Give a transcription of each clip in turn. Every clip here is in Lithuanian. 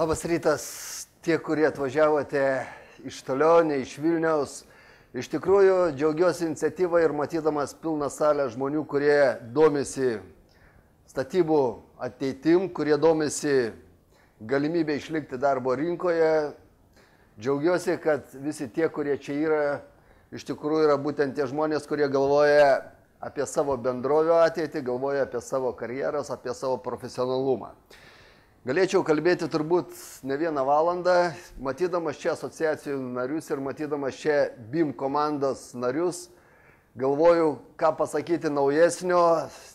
Labas rytas, tie, kurie atvažiavote iš toliau, ne iš Vilniaus. Iš tikrųjų, džiaugiuosi iniciatyvą ir matydamas pilną salę žmonių, kurie domisi statybų ateitim, kurie domisi galimybę išlikti darbo rinkoje. Džiaugiuosi, kad visi tie, kurie čia yra, iš tikrųjų yra būtent tie žmonės, kurie galvoja apie savo bendrovio ateitį, galvoja apie savo karjeras, apie savo profesionalumą. Galėčiau kalbėti turbūt ne vieną valandą, matydamas čia asociacijų narius ir matydamas čia BIM komandos narius, galvoju, ką pasakyti naujesnio,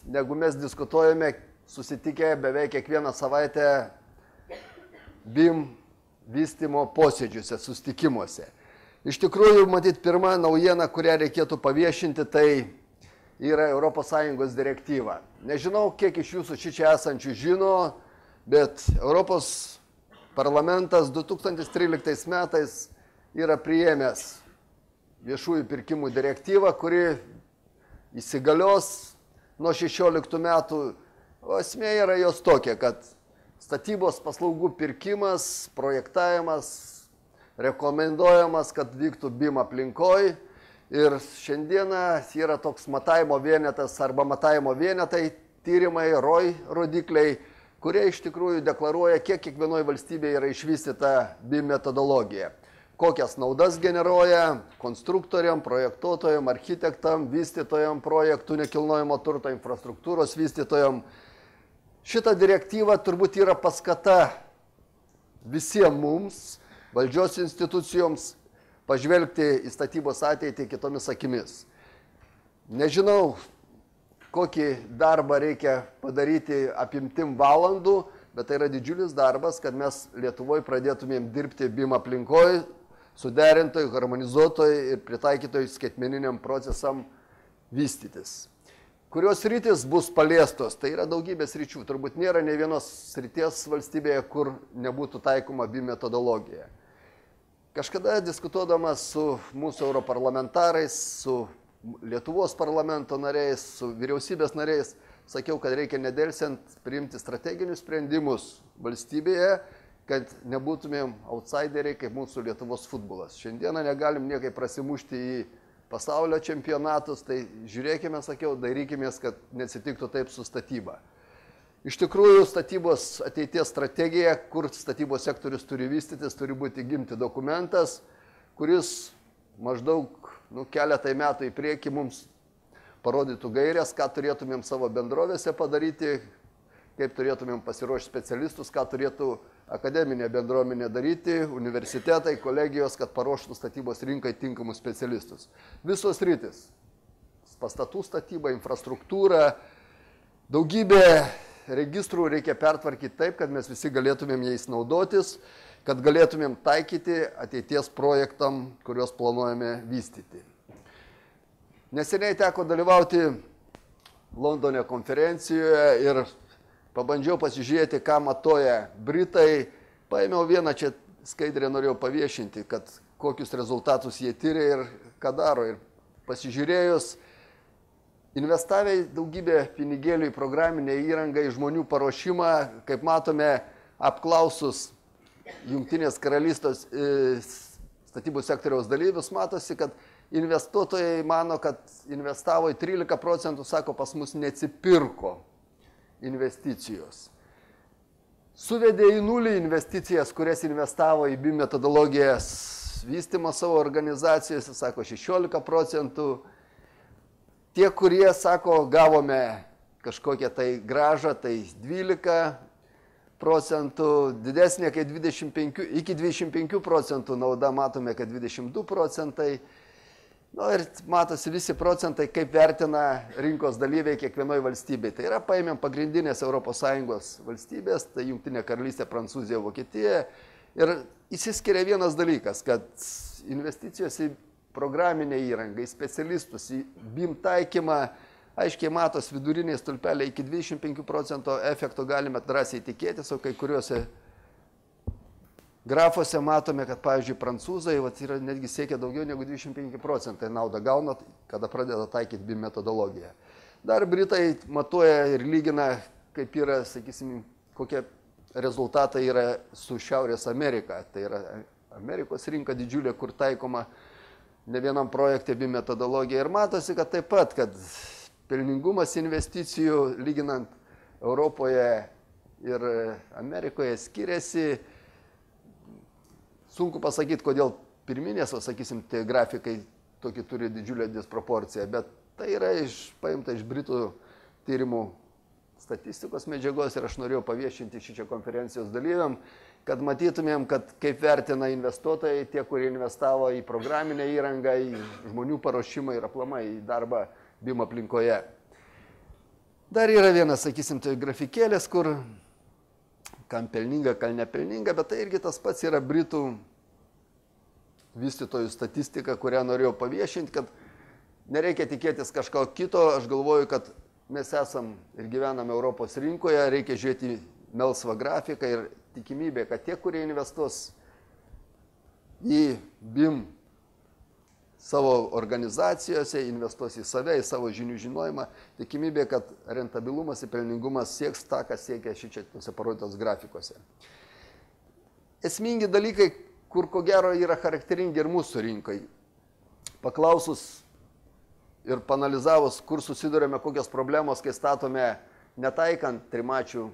negu mes diskutuojame susitikę beveik kiekvieną savaitę BIM vystymo posėdžiuose, susitikimuose. Iš tikrųjų, matyt, pirma naujiena, kurią reikėtų paviešinti, tai yra ES direktyva. Nežinau, kiek iš jūsų čia esančių žino, bet Europos parlamentas 2013 metais yra priėmęs viešųjų pirkimų direktyvą, kuri įsigalios nuo 16 metų. O esmė yra jos tokia, kad statybos paslaugų pirkimas, projektavimas rekomenduojamas, kad vyktų BIM aplinkoj. Ir šiandieną yra toks matavimo vienetas arba matavimo vienetai, tyrimai, ROI rodikliai, kurie iš tikrųjų deklaruoja, kiek kiekvienoje valstybėje yra išvystyta BIM metodologija. Kokias naudas generuoja konstruktoriam, projektuotojam, architektam, vystytojam, projektų nekilnojamo turto infrastruktūros vystytojam. Šita direktyva turbūt yra paskata visiems mums, valdžios institucijoms, pažvelgti į statybos ateitį kitomis akimis. Nežinau, kokį darbą reikia padaryti apimtim valandų, bet tai yra didžiulis darbas, kad mes Lietuvoje pradėtumėm dirbti BIM aplinkoj, suderintojai, harmonizuotojai ir pritaikytojai skaitmeniniam procesam vystytis. Kurios sritis bus paliestos, tai yra daugybės sričių. Turbūt nėra ne vienos srities valstybėje, kur nebūtų taikoma BIM metodologija. Kažkada diskutuodamas su mūsų europarlamentarais, su Lietuvos parlamento nariais, su vyriausybės nariais, sakiau, kad reikia nedelsiant priimti strateginius sprendimus valstybėje, kad nebūtumėm outsideriai kaip mūsų Lietuvos futbolas. Šiandieną negalim niekai prasimušti į pasaulio čempionatus, tai žiūrėkime, sakiau, darykimės, kad neatsitiktų taip su statyba. Iš tikrųjų, statybos ateities strategija, kur statybos sektorius turi vystytis, turi būti gimti dokumentas, kuris maždaug keletai metų į priekį mums parodytų gairias, ką turėtumėm savo bendrovėse padaryti, kaip turėtumėm pasiruošti specialistus, ką turėtų akademinė bendruomenė daryti, universitetai, kolegijos, kad paruoštų statybos rinkai tinkamus specialistus. Visos sritis - pastatų statyba, infrastruktūra, daugybė registrų reikia pertvarkyti taip, kad mes visi galėtumėm jais naudotis, kad galėtumėm taikyti ateities projektam, kuriuos planuojame vystyti. Neseniai teko dalyvauti Londone konferencijoje ir pabandžiau pasižiūrėti, ką matuoja Britai. Paėmiau vieną čia skaidrę, norėjau paviešinti, kad kokius rezultatus jie tyria ir ką daro. Ir pasižiūrėjus, investavę daugybę pinigėlių į programinę įrangą, į žmonių paruošimą, kaip matome, apklausus Jungtinės karalystės statybų sektoriaus dalyvius, matosi, kad investuotojai mano, kad investavo į 13%, sako, pas mus neatsipirko investicijos. Suvedė į nulį investicijas, kurias investavo į BIM metodologijas vystymo savo organizacijose, sako, 16%. Tie, kurie, sako, gavome kažkokią tai gražą, tai 12%, didesnė kaip 25, iki 25% nauda matome, kad 22%. Ir matosi visi procentai, kaip vertina rinkos dalyviai kiekvienoje valstybėje. Tai yra, paėmėm pagrindinės ES valstybės, tai Jungtinė karalystė, Prancūzija, Vokietija. Ir įsiskiria vienas dalykas, kad investicijos į programinę įrangą, į specialistus, į BIM taikymą, aiškiai matos viduriniai stulpeliai, iki 25% efekto galime drąsiai tikėtis, o kai kuriuose grafuose matome, kad, pavyzdžiui, prancūzai yra netgi siekia daugiau negu 25% naudą gauna, kada pradeda taikyti BIM metodologiją. Dar Britai matuoja ir lygina, kaip yra, sakysim, kokia rezultatai yra su Šiaurės Amerika. Tai yra Amerikos rinka didžiulė, kur taikoma ne vienam projekte BIM metodologija. Ir matosi, kad taip pat, kad pelningumas investicijų lyginant Europoje ir Amerikoje skiriasi. Sunku pasakyti, kodėl pirminės, sakysim, tie grafikai tokį turi didžiulę disproporciją, bet tai yra paimta iš Britų tyrimų statistikos medžiagos ir aš norėjau paviešinti šičia konferencijos dalyviam, kad matytumėm, kad kaip vertina investuotojai, tie, kurie investavo į programinę įrangą, į žmonių paruošimą ir aplamai į darbą BIM aplinkoje. Dar yra vienas, sakysim, tai grafikėlės, kur kam pelninga, kam nepelninga, bet tai irgi tas pats yra Britų vystytojų statistika, kurią norėjau paviešinti, kad nereikia tikėtis kažko kito. Aš galvoju, kad mes esam ir gyvename Europos rinkoje, reikia žiūrėti melsvą grafiką ir tikimybė, kad tie, kurie investuos į BIM savo organizacijose, investuos į save, į savo žinių žinojimą, tikimybė, kad rentabilumas ir pelningumas sieks tą, kas siekia šičia tuose parodytos grafikose. Esmingi dalykai, kur ko gero yra charakteringi ir mūsų rinkai. Paklausus ir panalizavus, kur susidurėme, kokios problemos, kai statome netaikant trimačių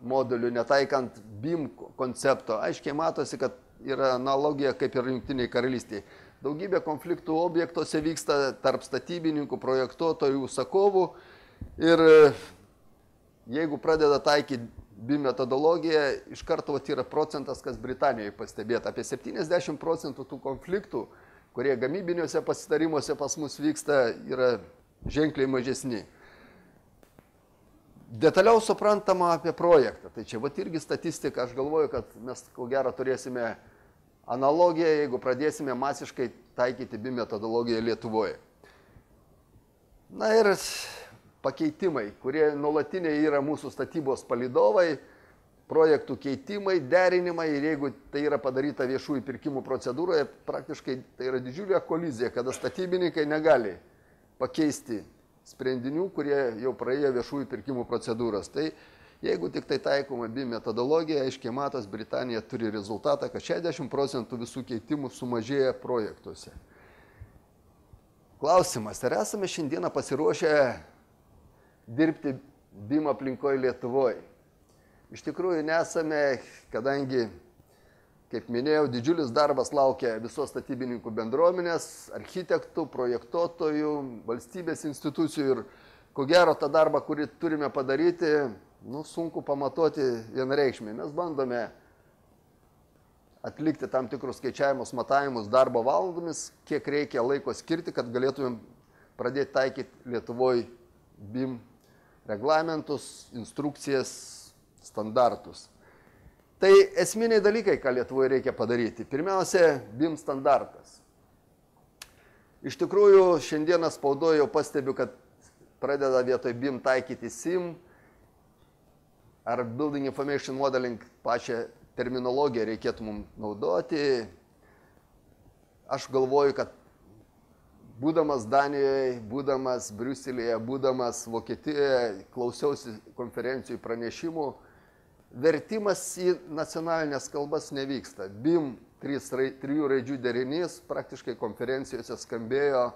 modulių, netaikant BIM koncepto, aiškiai matosi, kad yra analogija kaip ir Jungtinėje karalystėje. Daugybė konfliktų objektuose vyksta tarp statybininkų, projektuotojų, užsakovų ir jeigu pradeda taikyti BIM metodologiją, iš karto yra procentas, kas Britanijoje pastebėta. Apie 70% tų konfliktų, kurie gamybiniuose pasitarimuose pas mus vyksta, yra ženkliai mažesni. Detaliau suprantama apie projektą. Tai čia irgi statistika, aš galvoju, kad mes ko gero turėsime analogiją, jeigu pradėsime masiškai taikyti BIM metodologiją Lietuvoje. Na ir pakeitimai, kurie nuolatiniai yra mūsų statybos palydovai, projektų keitimai, derinimai ir jeigu tai yra padaryta viešųjų pirkimų procedūroje, praktiškai tai yra didžiulė kolizija, kada statybininkai negali pakeisti sprendinių, kurie jau praėjo viešųjų pirkimų procedūras. Tai jeigu tik tai taikoma BIM metodologija, aiškiai matos, Britanija turi rezultatą, kad 60% visų keitimų sumažėja projektuose. Klausimas, ar esame šiandieną pasiruošę dirbti BIM aplinkoje Lietuvoje? Iš tikrųjų nesame, kadangi, kaip minėjau, didžiulis darbas laukia visos statybininkų bendruomenės, architektų, projektuotojų, valstybės institucijų ir ko gero tą darbą, kurį turime padaryti, sunku pamatuoti vienareikšmiai. Mes bandome atlikti tam tikrus skaičiavimus, matavimus darbo valandomis, kiek reikia laiko skirti, kad galėtumėm pradėti taikyti Lietuvoje BIM reglamentus, instrukcijas, standartus. Tai esminiai dalykai, ką Lietuvoje reikia padaryti. Pirmiausia, BIM standartas. Iš tikrųjų, šiandieną spaudoje jau pastebiu, kad pradeda vietoj BIM taikyti SIM ar Building Information Modeling, pačią terminologiją reikėtų mums naudoti. Aš galvoju, kad būdamas Danijoje, būdamas Briuselyje, būdamas Vokietijoje, klausiausi konferencijų pranešimų, vertimas į nacionalinės kalbas nevyksta. BIM 3 raidžių derinys praktiškai konferencijose skambėjo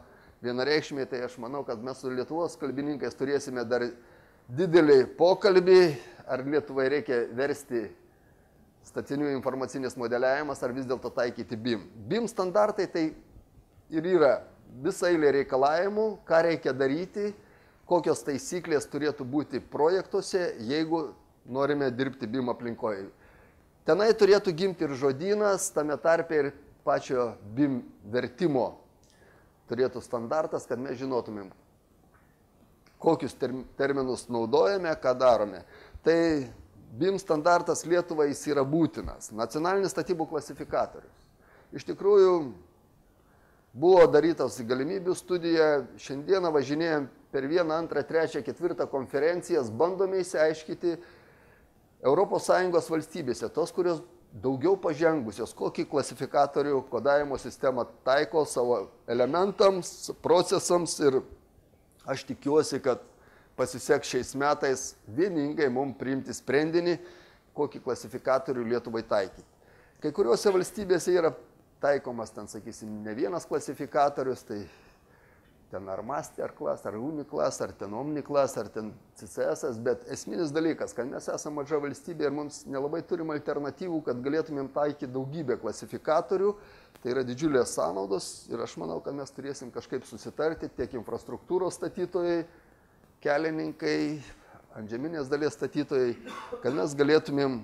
vienareikšmiai, tai aš manau, kad mes su Lietuvos kalbininkais turėsime dar didelį pokalbį, ar Lietuvai reikia versti statinių informacinis modeliavimas, ar vis dėlto taikyti BIM. BIM standartai tai ir yra visa eilė reikalavimų, ką reikia daryti, kokios taisyklės turėtų būti projektuose, jeigu norime dirbti BIM aplinkoje. Tenai turėtų gimti ir žodynas, tame tarpe ir pačio BIM vertimo turėtų standartas, kad mes žinotumėm, kokius terminus naudojame, ką darome. Tai BIM standartas Lietuvai jis yra būtinas. Nacionalinis statybų klasifikatorius. Iš tikrųjų, buvo darytas galimybių studija, šiandieną važinėjom per 1, 2, 3, 4 konferencijas, bandome įsiaiškyti ES valstybėse, tos, kurios daugiau pažengusios, kokį klasifikatorių kodavimo sistemą taiko savo elementams, procesams ir aš tikiuosi, kad pasiseks šiais metais vieningai mums priimti sprendinį, kokį klasifikatorių Lietuvai taikyti. Kai kuriuose valstybėse yra taikomas, ten, sakysim, ne vienas klasifikatorius, tai ten ar Master Class, ar Uniclass, ar ten Omniclass, ar ten CCS, bet esminis dalykas, kad mes esame maža valstybė ir mums nelabai turim alternatyvų, kad galėtumėm taikyti daugybę klasifikatorių, tai yra didžiulės sąnaudos ir aš manau, kad mes turėsim kažkaip susitarti tiek infrastruktūros statytojai, kelininkai, antžeminės dalies statytojai, kad mes galėtumėm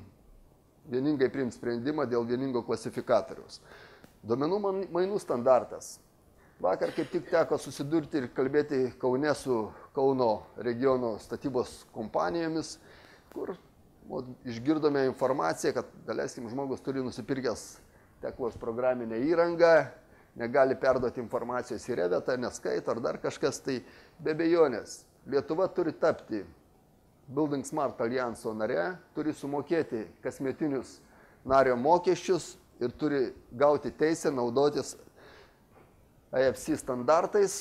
vieningai priimti sprendimą dėl vieningo klasifikatoriaus. Duomenų mainų standartas. Vakar kaip tik teko susidurti ir kalbėti Kaune su Kauno regiono statybos kompanijomis, kur išgirdome informaciją, kad, daleiskim, žmogus turi nusipirkęs teklos programinę įrangą, negali perduoti informacijos į Revetą, neskaito ar dar kažkas, tai be abejonės. Lietuva turi tapti Building Smart Allianso nare, turi sumokėti kasmetinius nario mokesčius ir turi gauti teisę naudotis AFC standartais,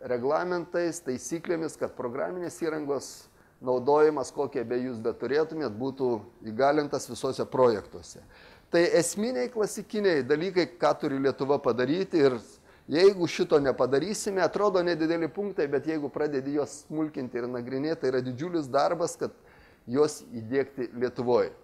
reglamentais, taisyklėmis, kad programinės įrangos naudojimas, kokie be jūs beturėtumėt, būtų įgalintas visose projektuose. Tai esminiai klasikiniai dalykai, ką turi Lietuva padaryti ir jeigu šito nepadarysime, atrodo nedideli punktai, bet jeigu pradedi juos smulkinti ir nagrinėti, tai yra didžiulis darbas, kad juos įdėkti Lietuvoje.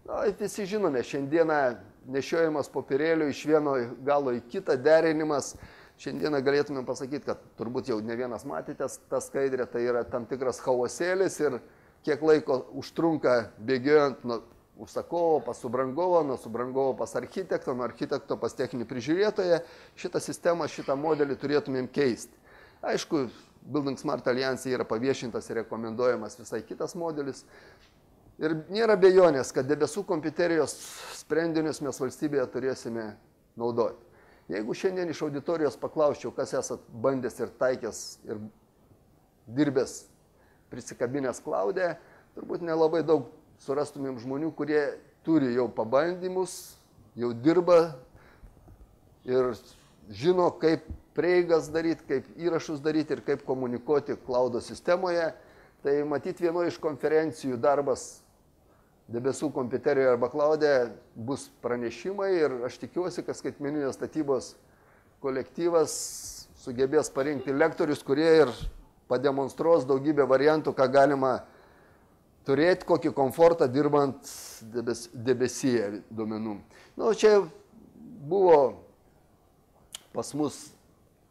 Na, visi žinome, šiandieną nešiojimas popierėlių iš vieno galo į kitą, derinimas. Šiandieną galėtume pasakyti, kad turbūt jau ne vienas matėte tą skaidrę, tai yra tam tikras chaosėlis ir kiek laiko užtrunka bėgiojant nuo užsakovo pas subrangovo, nuo subrangovo pas architekto, nuo architekto pas techninį prižiūrėtoją. Šitą sistemą, šitą modelį turėtumėm keisti. Aišku, Building Smart Alliance yra paviešintas ir rekomenduojamas visai kitas modelis. Ir nėra abejonės, kad debesų kompiuterijos sprendinius mes valstybėje turėsime naudoti. Jeigu šiandien iš auditorijos paklausčiau, kas esat bandęs ir taikęs ir dirbęs prisikabinęs klaudę, turbūt nelabai daug surastumėm žmonių, kurie turi jau pabandymus, jau dirba ir žino, kaip prieigas daryti, kaip įrašus daryti ir kaip komunikuoti klaudo sistemoje. Tai matyti vienoje iš konferencijų darbas debesų kompiuterijoje arba klaudė bus pranešimai ir aš tikiuosi, kad skaitmeninės statybos kolektyvas sugebės parinkti lektorius, kurie ir pademonstruos daugybę variantų, ką galima turėti, kokį komfortą dirbant debesyje duomenų. Na, čia buvo pas mus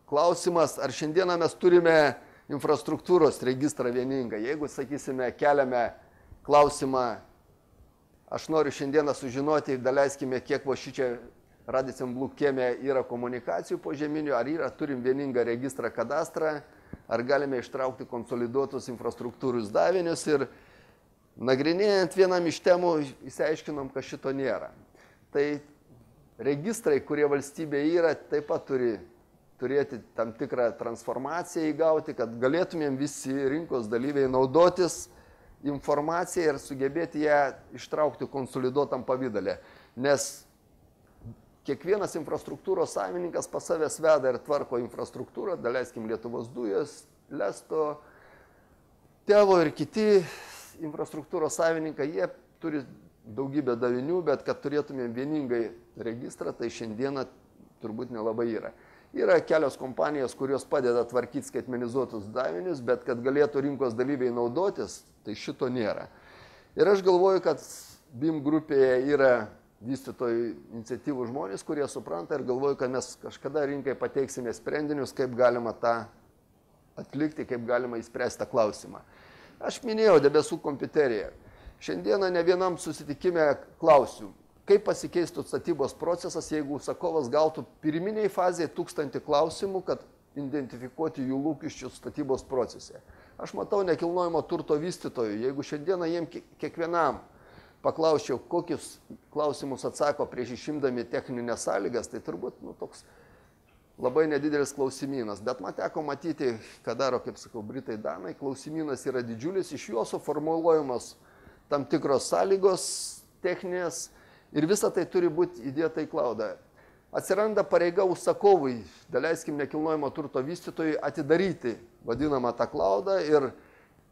klausimas, ar šiandieną mes turime infrastruktūros registrą vieningą. Jeigu, sakysime, keliame klausimą, aš noriu šiandieną sužinoti, daleiskime, kiek va šičia Radicem Blukėme yra komunikacijų požeminių, ar turim vieningą registrą kadastrą, ar galime ištraukti konsoliduotus infrastruktūrus davinius ir nagrinėjant vienam iš temų įsiaiškinom, kad šito nėra. Tai registrai, kurie valstybėje yra, taip pat turi turėti tam tikrą transformaciją įgauti, kad galėtumėm visi rinkos dalyviai naudotis informaciją ir sugebėti ją ištraukti konsoliduotam pavydale. Nes kiekvienas infrastruktūros savininkas pas savęs veda ir tvarko infrastruktūrą, daleiskim Lietuvos dujos, Lesto, Tevo ir kiti infrastruktūros savininkai, jie turi daugybę davinių, bet kad turėtumėm vieningai registrą, tai šiandieną turbūt nelabai yra. Yra kelios kompanijos, kurios padeda tvarkyti skaitmenizuotus davinius, bet kad galėtų rinkos dalyviai naudotis, tai šito nėra. Ir aš galvoju, kad BIM grupėje yra vystytojų iniciatyvų žmonės, kurie supranta ir galvoju, kad mes kažkada rinkai pateiksime sprendinius, kaip galima tą atlikti, kaip galima įspręsti tą klausimą. Aš minėjau debesų kompiuteriją. Šiandieną ne vienam susitikime klausiu, kaip pasikeistų statybos procesas, jeigu užsakovas gautų pirminiai fazėje 1000 klausimų, kad identifikuoti jų lūkesčius statybos procese. Aš matau nekilnojamo turto vystytojų, jeigu šiandieną jiem kiekvienam paklausčiau, kokius klausimus atsako prieš išimdami techninės sąlygas, tai turbūt toks labai nedidelis klausimynas. Bet man teko matyti, ką daro, kaip sakau, Britai Danai, klausimynas yra didžiulis, iš jo suformuluojamos tam tikros sąlygos techninės, ir visa tai turi būti įdėta į klaudą. Atsiranda pareiga užsakovui, daleiskim nekilnojamo turto vystytojui, atidaryti vadinamą tą klaudą ir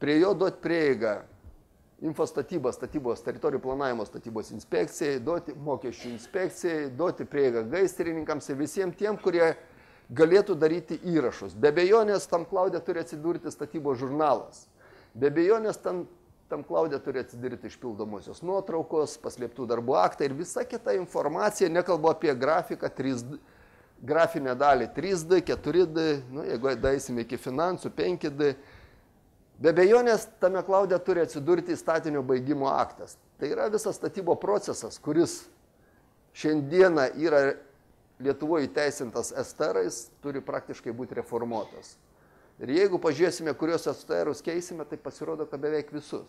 prie jo duoti prieigą infostatybos, statybos, teritorijų planavimo statybos inspekcijai, duoti mokesčių inspekcijai, duoti prieigą gaisrininkams ir visiems tiem, kurie galėtų daryti įrašus. Be abejonės tam klaude turi atsidurti statybos žurnalas. Be abejonės tam klaude turi atsidurti išpildomosios nuotraukos, paslėptų darbų aktai ir visa kita informacija, nekalbu apie grafiką, 3D, grafinę dalį 3D, 4D, nu, jeigu daisime iki finansų, 5D. Be abejonės tame klaude turi atsidurti statinio baigimo aktas. Tai yra visas statybo procesas, kuris šiandieną yra Lietuvoje įteisintas STR-ais, turi praktiškai būti reformuotas. Ir jeigu pažiūrėsime, kurios STR-us keisime, tai pasirodo, kad beveik visus.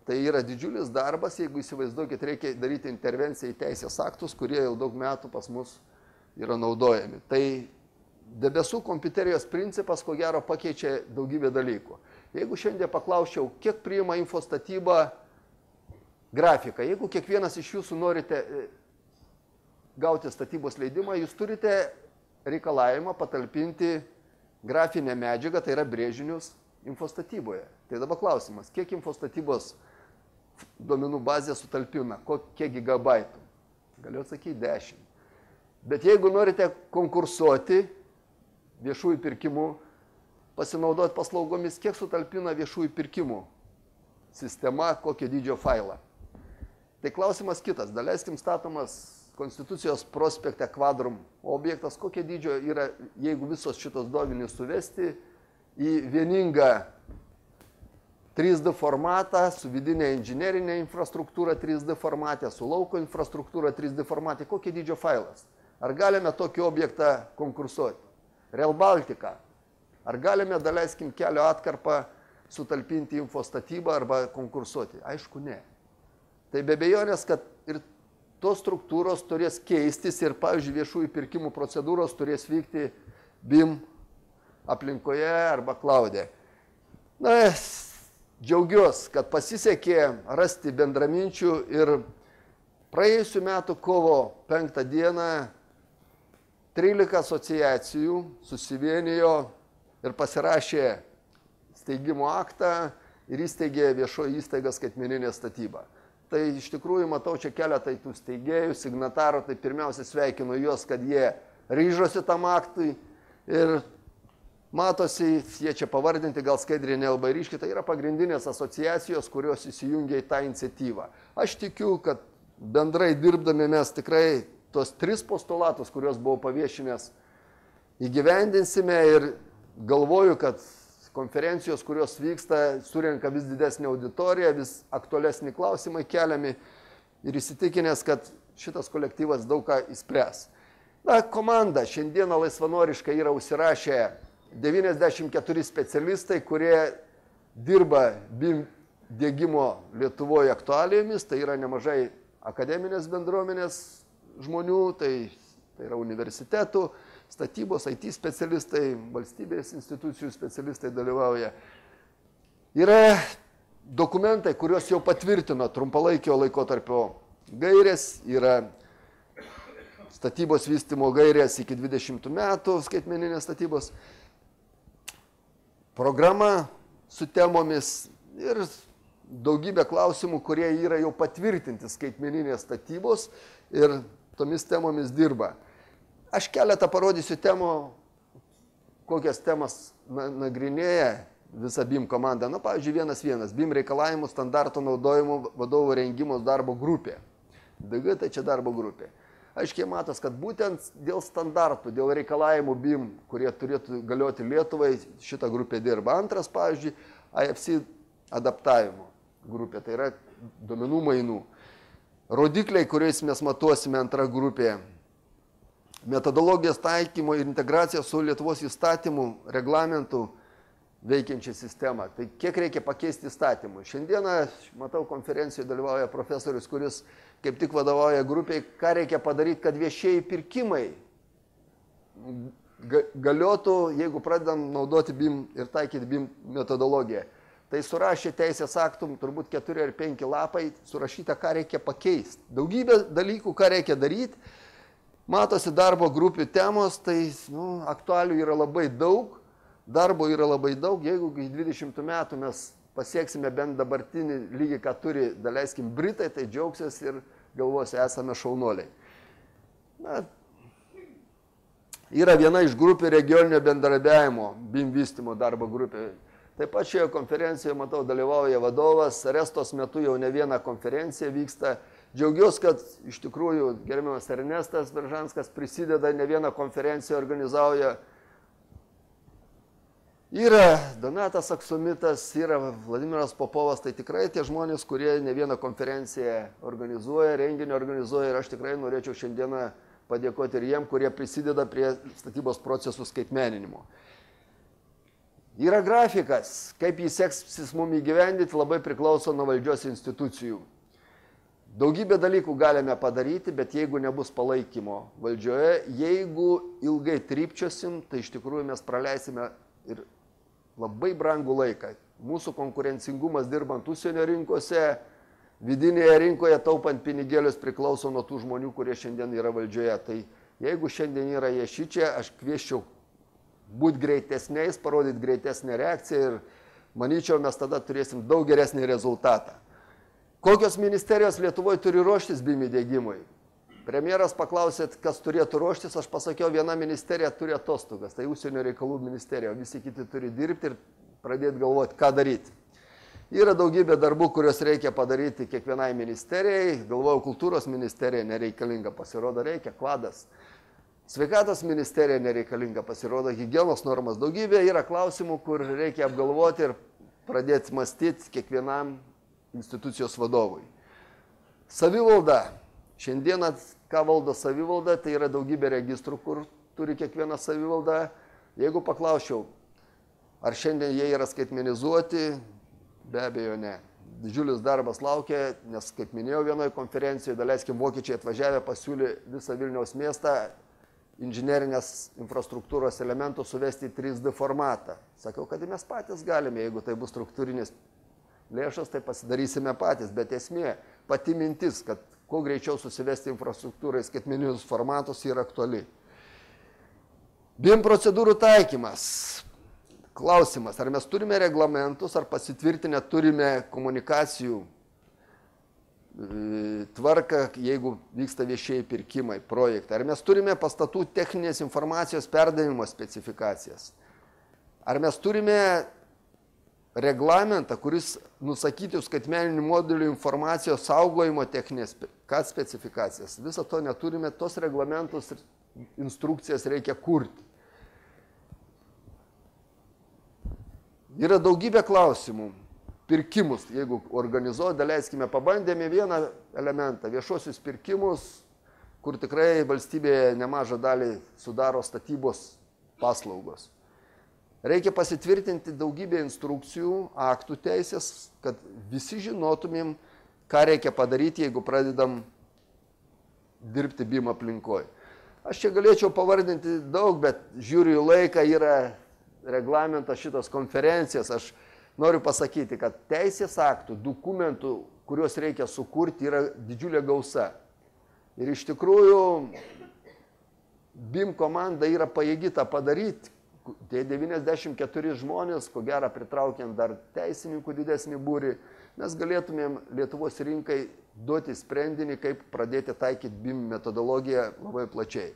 Tai yra didžiulis darbas, jeigu įsivaizduokit, reikia daryti intervenciją į teisės aktus, kurie jau daug metų pas mus yra naudojami. Tai debesų kompiuterijos principas, ko gero, pakeičia daugybę dalykų. Jeigu šiandien paklausčiau, kiek priima infostatybą grafiką, jeigu kiekvienas iš jūsų norite gauti statybos leidimą, jūs turite reikalavimą patalpinti grafinę medžiagą, tai yra brėžinius infostatyboje. Tai dabar klausimas, kiek infostatybos duomenų bazė sutalpina, kiek gigabaitų? Galiu atsakyti 10. Bet jeigu norite konkursuoti viešųjų pirkimų, pasinaudoti paslaugomis, kiek sutalpina viešųjų pirkimų sistema, kokio dydžio failą? Tai klausimas kitas. Daleiskim statomas Konstitucijos prospekte kvadrum objektas, kokie dydžio yra, jeigu visos šitos duomenys suvesti į vieningą 3D formatą, su vidinė inžinerinė infrastruktūra 3D formate, su lauko infrastruktūra 3D formate, kokie dydžio failas? Ar galime tokį objektą konkursuoti? Rail Baltica. Ar galime, daleiskim, kelio atkarpą sutalpinti infostatybą arba konkursuoti? Aišku, ne. Tai be abejonės, kad ir tos struktūros turės keistis ir, pavyzdžiui, viešųjų pirkimų procedūros turės vykti BIM aplinkoje arba klaude. Na, džiaugiuosi, kad pasisekė rasti bendraminčių ir praėjusių metų kovo 5 dieną 13 asociacijų susivienijo ir pasirašė steigimo aktą ir įsteigė viešoji įstaiga skaitmeninė statyba. Tai iš tikrųjų matau čia keletą tų steigėjų, signatarų, tai pirmiausia sveikinu juos, kad jie ryžosi tam aktui ir matosi, jie čia pavardinti, gal skaidriai nelabai ryškiai, tai yra pagrindinės asociacijos, kurios įsijungia į tą iniciatyvą. Aš tikiu, kad bendrai dirbdami mes tikrai tos 3 postulatus, kuriuos buvau paviešinęs, įgyvendinsime ir galvoju, kad konferencijos, kurios vyksta, surenka vis didesnį auditoriją, vis aktualesnį klausimai keliami ir įsitikinęs, kad šitas kolektyvas daug ką įspręs. Na, komanda šiandieną laisvanoriškai yra užsirašę 94 specialistai, kurie dirba BIM diegimo Lietuvoje aktualijomis, tai yra nemažai akademinės bendruomenės žmonių, tai yra universitetų, statybos, IT specialistai, valstybės institucijų specialistai dalyvauja. Yra dokumentai, kuriuos jau patvirtino trumpalaikio laikotarpio gairės, yra statybos vystymo gairės iki 20 metų skaitmeninės statybos, programa su temomis ir daugybė klausimų, kurie yra jau patvirtinti skaitmeninės statybos ir tomis temomis dirba. Aš keletą parodysiu temų, kokias temas nagrinėja visa BIM komanda. Na, pavyzdžiui, 1.1. BIM reikalavimų standarto naudojimo vadovų rengimo darbo grupė. DG tai čia darbo grupė. Aiškiai matos, kad būtent dėl standartų, dėl reikalavimų BIM, kurie turėtų galioti Lietuvai, šita grupė dirba. Antras, pavyzdžiui, IFC adaptavimo grupė, tai yra duomenų mainų. Rodikliai, kuriais mes matuosime, antra grupė. Metodologijos taikymo ir integracija su Lietuvos įstatymų reglamentų veikiančią sistemą. Tai kiek reikia pakeisti įstatymų? Šiandieną, matau, konferencijoje dalyvauja profesorius, kuris kaip tik vadovauja grupiai, ką reikia padaryti, kad viešieji pirkimai galiotų, jeigu pradedam naudoti BIM ir taikyti BIM metodologiją. Tai surašė teisės aktum, turbūt 4 ar 5 lapai, surašyta, ką reikia pakeisti. Daugybė dalykų, ką reikia daryti. Matosi darbo grupių temos, tai aktualių yra labai daug, darbo yra labai daug. Jeigu į 20 metų mes pasieksime bent dabartinį lygį, ką turi, daleiskim, Britai, tai džiaugsis ir galvos, esame šaunuoliai. Na, yra viena iš grupių regioninio bendradarbiavimo, BIM vystymo darbo grupė. Taip pat šioje konferencijoje, matau, dalyvauja vadovas, Restos metu jau ne viena konferencija vyksta. Džiaugiuosi, kad iš tikrųjų gerbiamas Ernestas Beržanskas prisideda, ne vieną konferenciją organizauja. Yra Donatas Aksumitas, yra Vladimiras Popovas, tai tikrai tie žmonės, kurie ne vieną konferenciją organizuoja, renginį organizuoja, ir aš tikrai norėčiau šiandieną padėkoti ir jiem, kurie prisideda prie statybos procesų skaitmeninimo. Yra grafikas, kaip jis seksis mums įgyvendyti, labai priklauso nuo valdžios institucijų. Daugybę dalykų galime padaryti, bet jeigu nebus palaikymo valdžioje, jeigu ilgai trypčiosim, tai iš tikrųjų mes praleisime ir labai brangų laiką. Mūsų konkurencingumas dirbant užsienio rinkose, vidinėje rinkoje taupant pinigėlius priklauso nuo tų žmonių, kurie šiandien yra valdžioje. Tai jeigu šiandien yra jie šičia, aš kvieščiau būti greitesniais, parodyti greitesnę reakciją ir manyčiau, mes tada turėsim daug geresnį rezultatą. Kokios ministerijos Lietuvoje turi ruoštis BIM įdiegimui? Premjeras paklausėt, kas turėtų ruoštis, aš pasakiau, viena ministerija turi atostogas, tai užsienio reikalų ministerija, visi kiti turi dirbti ir pradėti galvoti, ką daryti. Yra daugybė darbų, kuriuos reikia padaryti kiekvienai ministerijai, galvojau, kultūros ministerija nereikalinga, pasirodo reikia, kvadas. Sveikatos ministerija nereikalinga, pasirodo, higienos normas daugybė, yra klausimų, kur reikia apgalvoti ir pradėti mąstyti kiekvienam institucijos vadovui. Savivalda. Šiandieną, ką valdo savivalda, tai yra daugybė registrų, kur turi kiekviena savivalda. Jeigu paklausčiau, ar šiandien jie yra skaitmenizuoti, be abejo ne. Didžiulis darbas laukia, nes, kaip minėjau vienoje konferencijoje, daleiskim, vokiečiai atvažiavę pasiūlė visą Vilniaus miestą inžinerinės infrastruktūros elementų suvesti į 3D formatą. Sakiau, kad mes patys galime, jeigu tai bus struktūrinis lėšas, tai pasidarysime patys, bet esmė, pati mintis, kad kuo greičiau susivesti infrastruktūrai skaitmeninius formatus yra aktuali. BIM procedūrų taikymas. Klausimas, ar mes turime reglamentus, ar pasitvirtinę turime komunikacijų tvarką, jeigu vyksta viešieji pirkimai, projektai. Ar mes turime pastatų techninės informacijos perdavimo specifikacijas. Ar mes turime reglamentą, kuris nusakytų skaitmeninių modelių informacijos saugojimo techninės specifikacijas. Viso to neturime, tos reglamentus ir instrukcijas reikia kurti. Yra daugybė klausimų. Pirkimus, jeigu organizuoja, daleiskime, pabandėme vieną elementą, viešuosius pirkimus, kur tikrai valstybėje nemažą dalį sudaro statybos paslaugos. Reikia pasitvirtinti daugybę instrukcijų, aktų teisės, kad visi žinotumėm, ką reikia padaryti, jeigu pradedam dirbti BIM aplinkoje. Aš čia galėčiau pavardinti daug, bet žiūriu į laiką, yra reglamentas šitos konferencijos. Aš noriu pasakyti, kad teisės aktų, dokumentų, kuriuos reikia sukurti, yra didžiulė gausa. Ir iš tikrųjų BIM komanda yra pajėgi tą padaryti. Tie 94 žmonės, ko gero pritraukiant dar teisininkų didesnį būrį, mes galėtumėm Lietuvos rinkai duoti sprendinį, kaip pradėti taikyti BIM metodologiją labai plačiai.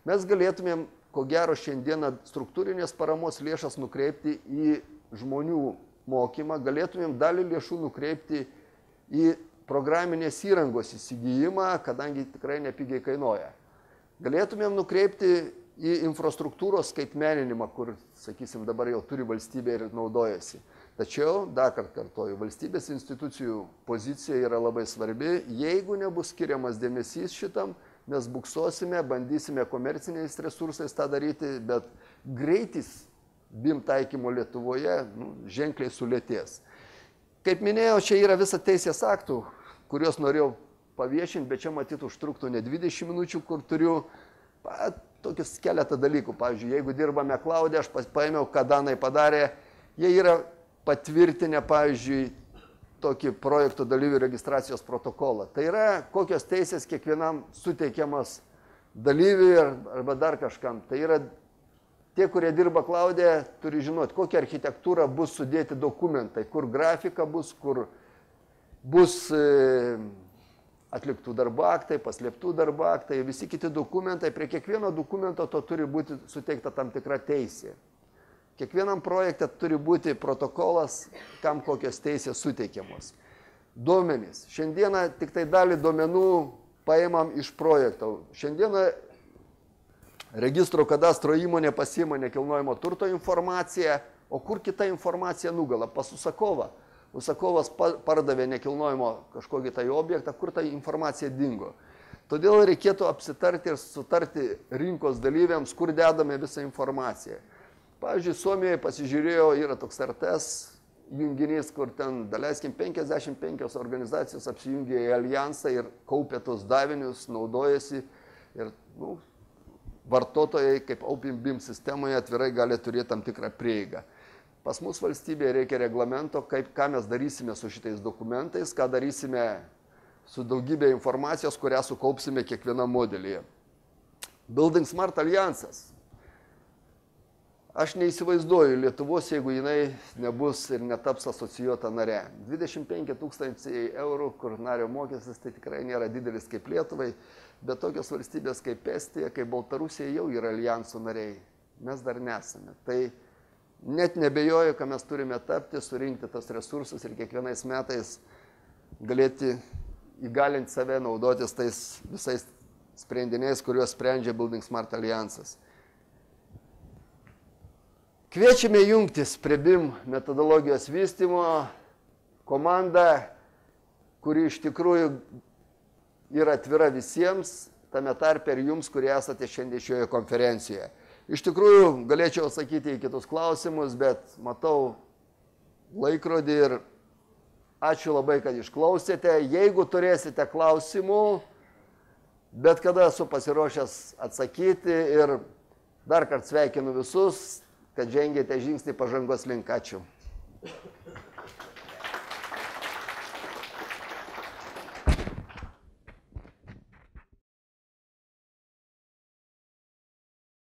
Mes galėtumėm, ko gero, šiandieną struktūrinės paramos lėšas nukreipti į žmonių mokymą, galėtumėm dalį lėšų nukreipti į programinės įrangos įsigijimą, kadangi tikrai nepigiai kainuoja. Galėtumėm nukreipti į infrastruktūros skaitmeninimą, kur, sakysim, dabar jau turi valstybė ir naudojasi. Tačiau, dar kartą kartoju, valstybės institucijų pozicija yra labai svarbi. Jeigu nebus skiriamas dėmesys šitam, mes buksuosime, bandysime komerciniais resursais tą daryti, bet greitis BIM taikymo Lietuvoje ženkliai sulėtės. Kaip minėjau, čia yra visa teisės aktų, kuriuos norėjau paviešinti, bet čia matyt užtruktų ne 20 minučių, kur turiu tokius keletą dalykų. Pavyzdžiui, jeigu dirbame Cloud'e, aš paėmiau, ką Danai padarė, jie yra patvirtinę, pavyzdžiui, tokį projektų dalyvių registracijos protokolą. Tai yra, kokios teisės kiekvienam suteikiamas dalyviui arba dar kažkam. Tai yra tie, kurie dirba Cloud'e, turi žinoti, kokia architektūra bus sudėti dokumentai, kur grafika bus, kur bus atliktų darbo aktai, paslėptų darbo aktai, visi kiti dokumentai. Prie kiekvieno dokumento to turi būti suteikta tam tikra teisė. Kiekvienam projekte turi būti protokolas, kam kokios teisės suteikiamos. Duomenys. Šiandieną tik tai dalį duomenų paimam iš projekto. Šiandieną registro kadastro įmonė pasiima nekilnojamo turto informaciją, o kur kita informacija nugala? Pas užsakovą. Užsakovas pardavė nekilnojimo kažkokį tai objektą, kur ta informacija dingo. Todėl reikėtų apsitarti ir sutarti rinkos dalyviams, kur dedame visą informaciją. Pavyzdžiui, Suomijoje pasižiūrėjau, yra toks RTS junginys, kur ten, daleiskim, 55 organizacijos apsijungė į alijansą ir kaupė tos davinius, naudojasi ir vartotojai, kaip OpenBIM sistemoje, atvirai gali turėti tam tikrą prieigą. Pas mus valstybėje reikia reglamento, ką mes darysime su šitais dokumentais, ką darysime su daugybė informacijos, kurią sukaupsime kiekvienam modelyje. Building Smart Alliansas. Aš neįsivaizduoju Lietuvos, jeigu jinai nebus ir netaps asocijuota nare. 25 000 eurų, kur nario mokestis, tai tikrai nėra didelis kaip Lietuvai, bet tokios valstybės kaip Estija, kaip Baltarusija jau yra alijansų nariai. Mes dar nesame. Tai net nebejoju, kad mes turime tapti, surinkti tas resursus ir kiekvienais metais galėti įgalinti save naudotis tais visais sprendiniais, kuriuos sprendžia Building Smart Alliansas. Kviečiame jungtis prie BIM metodologijos vystymo komandą, kuri iš tikrųjų yra atvira visiems, tame tarpe ir jums, kurie esate šiandien šioje konferencijoje. Iš tikrųjų, galėčiau atsakyti į kitus klausimus, bet matau laikrodį ir ačiū labai, kad išklausėte. Jeigu turėsite klausimų, bet kada esu pasiruošęs atsakyti ir dar kartą sveikinu visus, kad žengėte žingsnį pažangos link. Ačiū.